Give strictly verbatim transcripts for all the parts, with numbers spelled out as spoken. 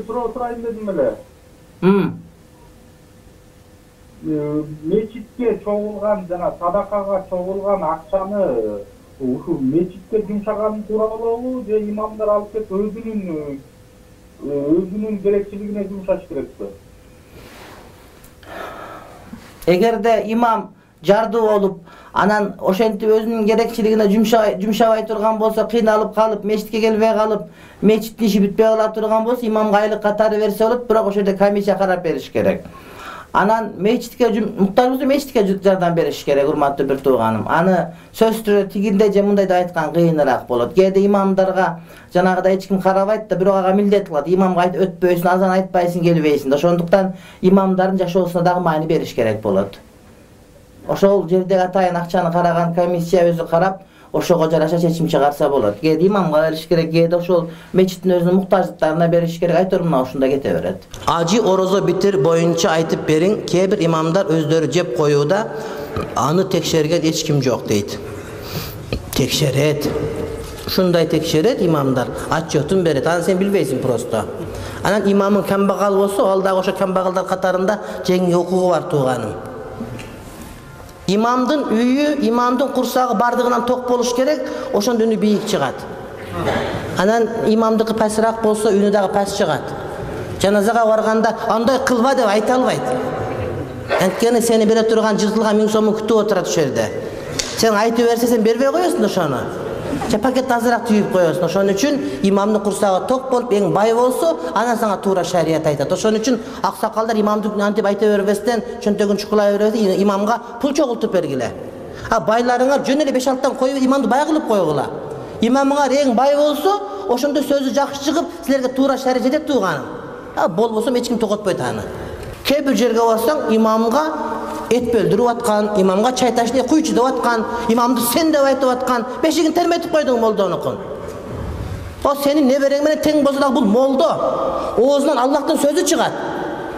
суроо сурайын дедим эле. Мечитке чогулган жана садакага чогулган акчаны ушу мечитке жумшаган туура болобу же имамдар алып кетип өзүнүн өзүнүн керекчилигине жумшаш керекпи? Эгерде имам жардуу болуп, анан ошентип өзүнүн керекчилигине жумшабай турган болсо, кыйналып калып, мечитке келбей калып, мечиттин иши бүтпөй кала турган болсо, имамга айлык катары берсе болот, бирок ошол жерде комиссия карап бериш керек. Анан мечитке муктаж болсо мечитке жардам бериш керек, урматтуу бир тууганым. Аны сөзсүз түрдө тигиндей же мындай деп айткан кыйыныраак болот. Кээде имамдарга жанагыдай эч ким карабайт да, бирок ага милдет кылат. Имамга айт өтпөйсүң, азан айтпайсың, келбейсиң. Ошондуктан имамдардын жашоосуна дагы маани бериш керек болот. Ошол жердеги атайын акчаны караган комиссия өзү карап, ошого жараша чечим чыгарса болот. Кээде имамга бериш керек, кээде ошол мечиттин өзүнүн муктаждыктарына бериш керек. Айтор мына ушунда кете берет. Ажы орозо битир боюнча айтып бериң. Кээ бир имамдар өздөрү жеп коюуда, аны текшерген эч ким жок дейт. Текшерет. Ушундай текшерет имамдар, отчетун берет. Аны сен билбейсиң просто. Анан имамың камбагал болсо, ал дагы ошо камбагалдар катарында жеңил укугу бар тууганым. Имамдын үйү, имамдын курсагы бардыгынан ток болуш керек, ошондо үнү бийик чыгат. Анан имамдыкы пасыраак болсо, үнү дагы пас чыгат. Жаназага барганда андай кылба деп айта албайт. Анткени сени бере турган жыртылган миң сомун күтүп отурат ошол жерде. Сен айтып берсе, сен бербей коесуң ошону. Же пакет азыраак түйүп коесуң. Ошон үчүн имамдын курсагы ток болуп, эң бай болсо, анан сага туура шарият айтат. Ошон үчүн аксакалдар имамды антип айта бербестен, чөнтөгүн чукулай бербестен имамга пул чогултуп бергиле. А байларыңар жөн эле беш алтыдан коюп имамды бай кылып койгула. Имамыңар эң бай болсо, ошондо сөзү жакшы чыгып, силерге туура шарият жетет тууганым. А болбосо эч ким токотпойт аны. Кээ бир жерге барсаң, имамга эт бөлдүрүп аткан, имамга чай ташны куйчу деп аткан, имамды сен деп айтып аткан, бешигин терметип койдуң молдонукун. О сенин неберең менен тең болсо дагы бул молдо. Оозунан Аллахтын сөзү чыгат.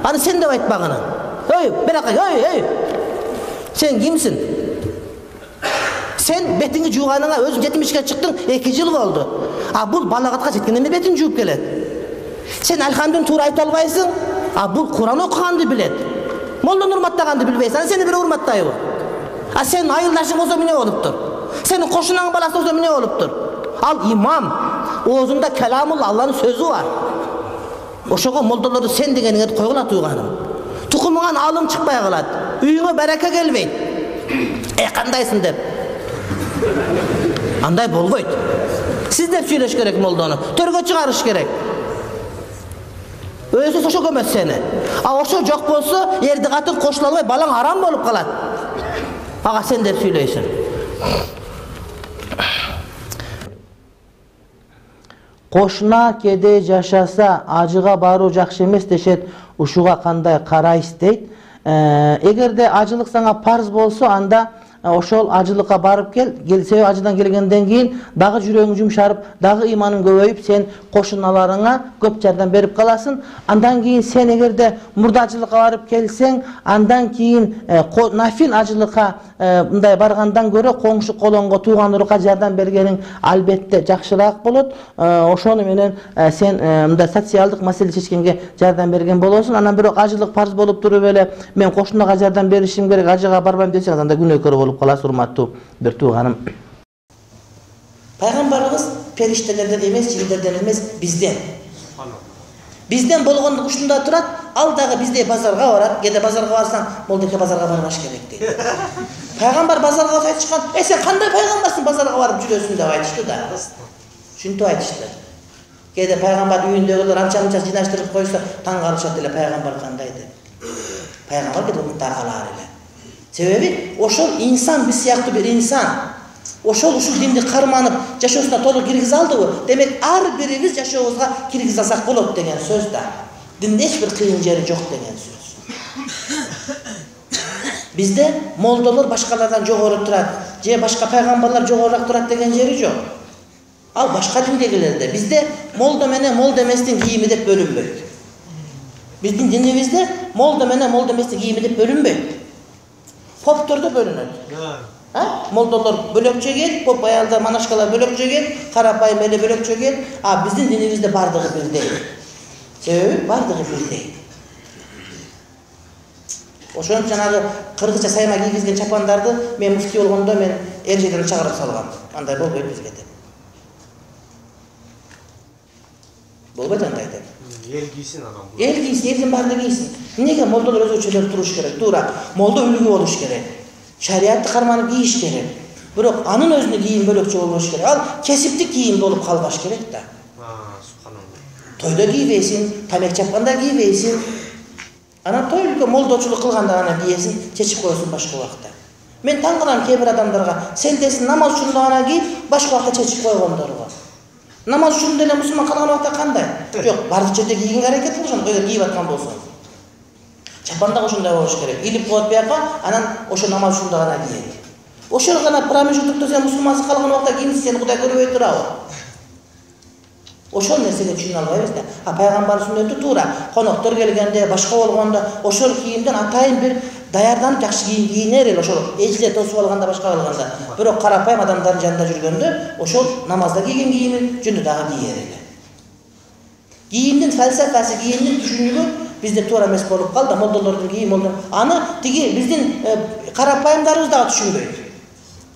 Аны сен деп айтпагына. Ой, биракка, ой, ой. Сен кимсиң? Сен бетиңи жууганыңа өзүң жетимишке чыктың, эки жыл болду. А бул балагатка жеткенден бери бетин жууп келет. Сен алхамдын туура айта албайсың, а бул Куран окуганды билет. Молдону урматтаганды билбейсиң, анан сени бир урматтайбы? А сен айылдашың болсо эмне болуптур? Сенин кошунаңдын баласы болсо эмне болуптур? Ал имам, оозунда каламулла, Алланын сөзү бар. Ошого молдолорду сен дегениңерди койгула тууганым. Тукумуңан алым чыкпай калат, үйүңө барака келбейт. Э кандайсың деп. Андай болбойт. Сиз деп сүйлөш керек молдону, төргө чыгарыш керек. Өзү ошо көмөт сени. А ошо жок болсо, эрди катын кошула албай, балаң арам болуп калат. Ага сен деп сүйлөйсүң. Кошуна кеде жашаса, ажыга баруу жакшы эмес дешет. Ушуга кандай карайсыз дейт. Эгерде ажылык сага парз болсо, анда ошол ажылыкка барып кел, келсе ажыдан келгенден кийин дагы жүрөгүң жумшарып, дагы иманың көбөйүп, сен кошуналарыңа көп жардам берип каласың. Андан кийин сен эгерде мурда ажылыкка барып келсең, андан кийин нафил ажылыкка мындай баргандан көрө коңшу колоңго, тууган урукка жардам бергениң албетте жакшыраак болот. Ошону менен сен мындай социалдык маселе чечкенге жардам берген болосуң. Анан бирок ажылык парз болуп туруп эле мен кошунага жардам беришим керек, ажыга барбайм десең, анда күнөөкөр болуп каласыз, урматтуу бир тууганым. Пайгамбарыбыз периштелерден эмес, жиндерден эмес, бизден. Бизден болгондук ушунда турат, ал дагы биздей базарга барат. Кээде базарга барсаң, молдеке базарга барбаш керек дейт. Пайгамбар базарга барып айтышкан, "Э сен кандай пайгамбарсың, базарга барып жүрөсүң" деп айтышты да. Шунтип айтышты. Кээде пайгамбар үйүндөгүлөр анча-мынча жынаштырып койсо, таң калышат эле пайгамбар кандай деп. Пайгамбар кээде таркалаар эле. Себеби ошол инсан, биз сыяктуу бир инсан. Ошол ушул динди карманып, жашоосуна толук киргизе алдыбы? Демек, ар бирибиз жашообузга киргизе алсак болот деген сөз да. Динде эч бир кыйын жери жок деген сөз. Бизде молдолор башкалардан жогору турат, же башка пайгамбарлар жогорураак турат деген жери жок. Ал башка диндегилерде. Бизде молдо менен молдо эместин кийими деп бөлүнбөйт. Биздин динибизде молдо менен молдо эместин кийими деп бөлүнбөйт. Поптордо бөлүнөт. А? Молдолор бөлөкчө эл, поп аялдар, монашкалар бөлөкчө эл, карапайым эле бөлөкчө эл, а биздин динибизде бардыгы бирдей. Себеби бардыгы бирдей. Ошон жанагы кыргызча сайма кийгизген чапандарды мен муфти болгондо мен эрежеден чыгарып салгам. Андай болбойт бизге деп. Болбойт андай деп. Эл кийсин анан бул. Эл кийсин, элдин баары кийсин. Эмнеге молдолор өзгөчөлөр туруш керек? Туура. Молдо үлгү болуш керек. Шариатты карманып кийиш керек. Бирок анын өзүнө кийим бөлөкчө болбош керек. Ал кесиптик кийим болуп калбаш керек да. А, субханалла. Тойдо кийбейсин, тамек чапканда кийбейсин. Анан той үлкө молдочулук кылганда гана кийесин, чечип коесуң башка убакта. Мен таң калам кээ бир адамдарга, сен десин намаз үчүн гана кийип, башка убакта чечип койгондорго. Намаз үчүн деле мусулман калган убакта кандай? Жок, бардык жерде кийгенге аракет кылышат, эгер кийип аткан болсоң. Чапан да ошондой болуш керек. Илип коет бияка, анан ошо намаз үчүн гана кийет. Ошол гана промежуттукта сен мусулмансыз калган убакта кийимсиз сени Кудай көрбөй турабы? Ошол нерсени түшүнө албайбыз да. А пайгамбар сүннөтү туура. Коноктор келгенде, башка болгондо ошол кийимден атайын бир даярданып жакшы кийим кийинер эл ошол эжилер тосуп алганда башка кылганда. Бирок карапайым адамдардын жанында жүргөндө ошол намазда кийген кийимин жөнүндө дагы кийер эле. Кийимдин фалсафасы, кийимдин түшүнүгү бизде туура эмес болуп калды. Молдолордун кийим молдо. Аны тиги биздин карапайымдарыбыз дагы түшүнбөйт.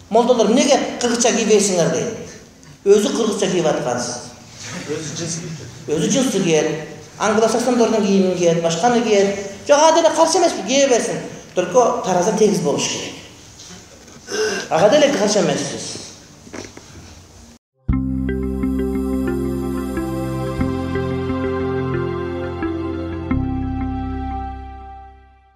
Молдолор эмнеге кыргызча кийбейсиңер дейт. Өзү кыргызча кийип аткансыз. Өзү жынсы кийет. Өзү жынсы кийет. Англосаксондордун кийимин кийет, башканы кийет. Жок, ага деле каршы эмеспи, кие берсин. Только тараза тегиз болуш керек. Ага деле каршы эмеспиз.